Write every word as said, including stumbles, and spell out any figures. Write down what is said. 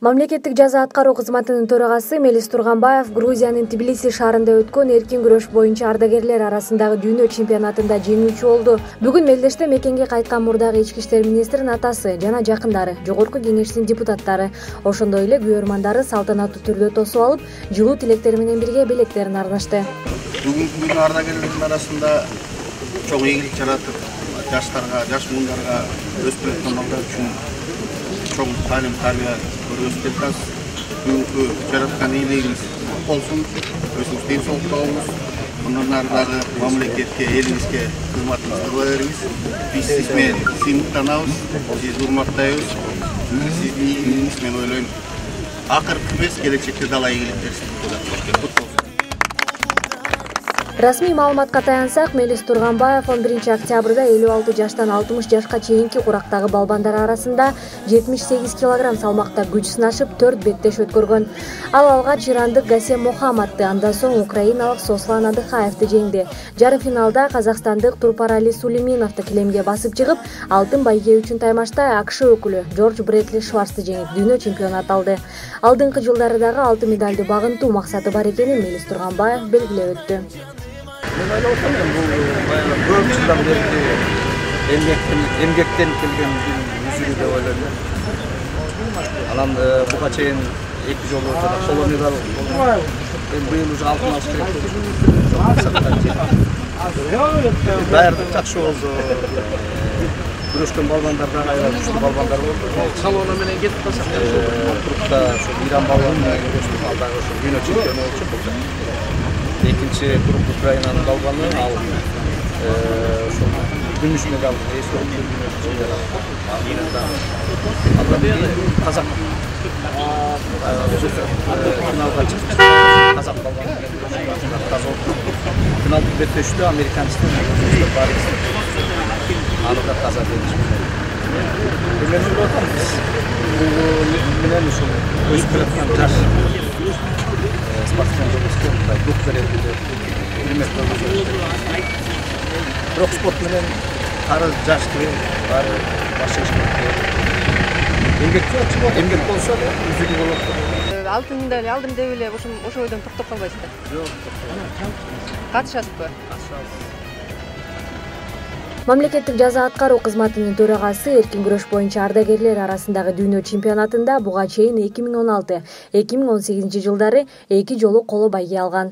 Мамлекеттик жаза аткаруу кызматынын төрагасы Мелис Турганбаев Грузиянын Тбилиси шаарында өткөн эркин күрөш боюнча ардагерлер арасындагы дүйнө чемпионатында жеңүүчү болду. Бүгүн Мелдеште мекенге кайткан мурдагы ички иштер министринин атасы жана жакындары, жогорку кеңештин депутаттары, ошондой эле күйөрмандары салтанаттуу түрдө тосуп алып, жылуу тилектер менен бирге белектерин арнашты. Бүгүнкү күнү ардагерлердин арасында чоң ийгилик жаратып, жаштарга, жаш муундарга өсүп жаткан балдар үчүн чоң таалим тарбия көрсөтүп жатабыз. Бүгүнкү жараткан ийгилигиңиз болсун, өзүңүз ден соолукта болуңуз. Мындан ары дагы мамлекетке, элиңизге кызматыңызды кыла бериңиз. Биз сиз менен сыймыктанабыз, сизди урматтайбыз. Сиздин ийгилигиңиз мен ойлойм, акыркы эмес, келечекте дала ийгиликтер сиздерге болот. Расмий маалыматка таянсак, Мелис Турганбаев он биринчи октябрда элүү алты жаштан алтымыш жашка чейинки курактагы балбандар арасында жетимиш сегиз килограмм салмакта күч сынашып төрт беттеш өткөргөн. Ал алгач ирандык Гасем Мохаммадты, андан соң украиналык Сослан Адыхаевди жеңди. Жарым финалда казакстандык Турпарали Сулейменовду килемге басып чыгып, алтын байге үчүн таймашта АКШ өкүлү Джордж Брэдли Шварцты жеңип, дүйнө чемпионат алды. Алдыңкы жылдары дагы алтын медалды багынтуу максаты бар экенин Мелис Турганбаев белгилеп өттү. Мен ойлоп атам, бул баягы көп жылдан берки эмгектен эмгектен келген үзүрү деп ойлойм. Анан буга чейин эки жолу коло медаль болгон. Эми быйыл уже алтын алыш керек. Даярдык жакшы болду. Күрөшкөн балбандар да аябай күчтүү балбандар болду. Салона менен кетип калсак, турукта ошо Иран балбаны менен күрөштүк, ал дагы ошо дүйнө чемпиону болчу. Экинчи групп Украинанын балбаны, ал ошо күмүш медаль эсеп Андан кийин казак финалга чыкты. Казак балбаны финалдык беттешүүдө американчтын Борис аны да казак жеңишти. Мен ойлоп атам, бул менен ушул өсүп жаткан жаш спортсмен жолдоштой дух берет деп билмек болсо. Бирок спорт менен кары жашты баары башка эмгек эмгек болсо үзүлүү болот. Алтын медаль алдым деп эле ошо ойдон токтоп калбайсыздар. Жок. Катышасызбы? Катышабыз. Мамлекеттик жаза аткаруу кызматынын төрагасы эркин күрөш боюнча ардагерлер арасындагы дүйнө чемпионатында буга чейин эки миң он алты эки миң он сегизинчи жылдары эки жолу коло байге алган.